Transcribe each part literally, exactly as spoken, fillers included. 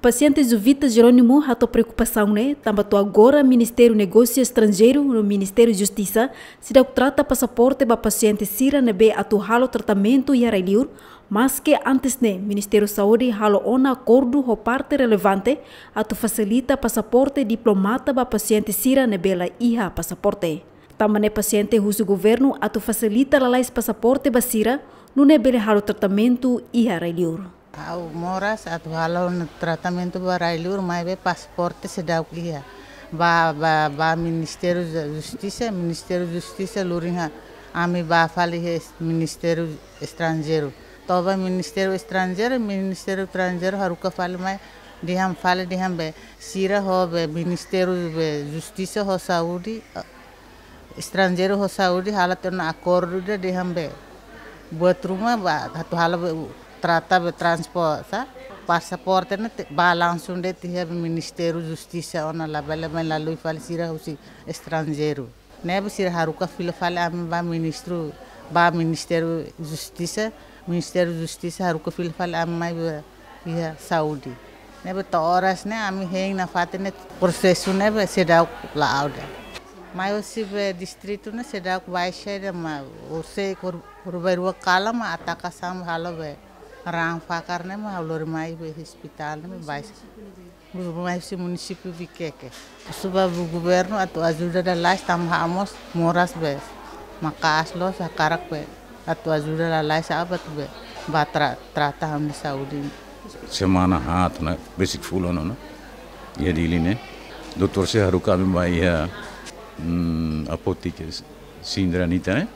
Pasiente Juvita Jerónimo hato'o preokupasaun ne'e tanba to'o agora Ministériu Negósiu Estranjeiru no Ministériu Justisa seidauk trata pasaporte ba pasiente sira ne'ebé atu halo tratamentu iha rai-liur, maske antes ne'e Ministériu Saúde halo ona akordu ho parte relevante atu fasilita pasaporte diplomata ba pasiente sira ne'ebé la iha pasaporte. Tanba ne'e pasiente husu governu atu fasilita lalais pasaporte ba sira, nune'e bele halo tratamentu iha rai-liur. Ha'u moras atu halo tratamentu ba rai-liur, maibé pasaporte seidauk iha. Ba, ba, ba Ministériu Justisa, Ministériu Justisa luring ha, ami bá fali iha Ministériu Estranjeiru. To'o ba Ministériu Estranjeiru, Ministériu Estranjeiru haruka fali mai, dehan fali dehan be, sira ho be Ministériu be Justisa ho Saúde, eh, Estranjeiru ho Saúde halo tiha ona akordu ida dehan be, buat ruma ba atu halo be, trata be transpor, sa, pasaporte ne'e te, ba langsung de'it iha be Ministériu Justisa ona, labele mai lalui fali sira husi estranjeiru. Ne'ebé sira haruka fila fali ami ba ministru, ba Ministériu Justisa, Ministériu Justisa haruka fila fali ami mai ba iha Saúde. Ne'ebé to'o oras ne'e ami hein nafatin ne'e prosesu ne'ebé seidauk la'o de'it. Mai husi be distritu ne'e seidauk baixa de'it, mai husi kor-, kor-, bairru kala mai ataka sam halo be raan fakar ne'e mai halo lori mai be hospital ne'e baixa. Gubernur mai husi munisípiu Viqueque. Husu ba governu atu ajuda lalais tanba ha'u mós moras be maka'as loos, hakarak be atu ajuda lalais, atu be bá tra-, trata ha'u-nia saúde. Semana haat ona, besik fulan ona. Iha Dili ne'e. Doutór sira haruka ami ba iha, hmm, apotik Sindra Nita ne'e.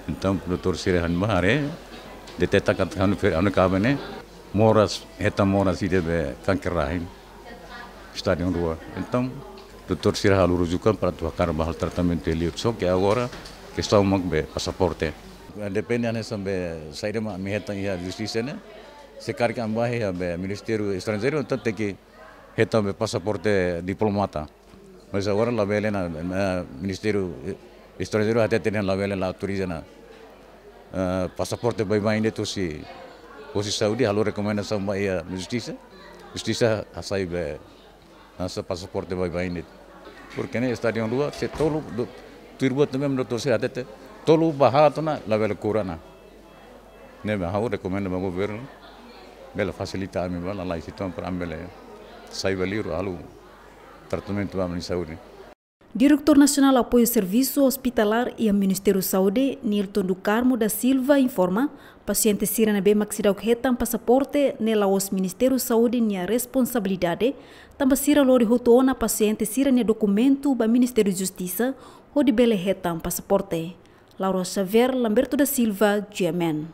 Entaun doutór sira han ba haree, deteta katak ha'u-nia fe-, ha'u-nia kaben ne'e moras, hetan moras ida be kanker rahim. Estádiu rua. Entaun, doutór sira halo rujukan para atu hakarak bá halo tratamentu iha liur. Só ke agora, kestaun mak be pasaporte. Depende hanesan be saida mak ami hetan iha justisa ne'e. Se karik ami bá iha be Ministériu Estranjeiru, entaun tenke hetan be pasaporte diplomata. Mas agora labele ona, eh, Ministériu Estranjeiru hateten dehan labele, la autoriza ona, eh, pasaporte baibain de'it husi, husi Saúde, halo rekomendasaun ba iha Justisa. Justisa hasai be, hasai pasaporte baibain de'it. Porke ne'e estádiu rua, se tolu, do-, tuir buat ne'ebé doutór sira hatete, tolu ba haat ona, labele kura ona. Ne'ebé ha'u rekomenda ba governu, bele fasilita ami bá lalais uitoan para ami bele sai ba liur halo tratamentu ba ami-nia saúde. Diretór Nasionál Apoiu Servisu Ospitalar iha Ministériu Saúde, Nilton do Carmo da Silva, informa, pasiente sira ne'ebé mak seidauk hetan pasaporte ne'e la'ós Ministériu Saúde nia responsabilidade, tanba sira lori hotu ona pasiente sira-nia dokumentu ba Ministériu Justisa, hodi bele hetan pasaporte. Laura Xavier, Lamberto da Silva, G M N.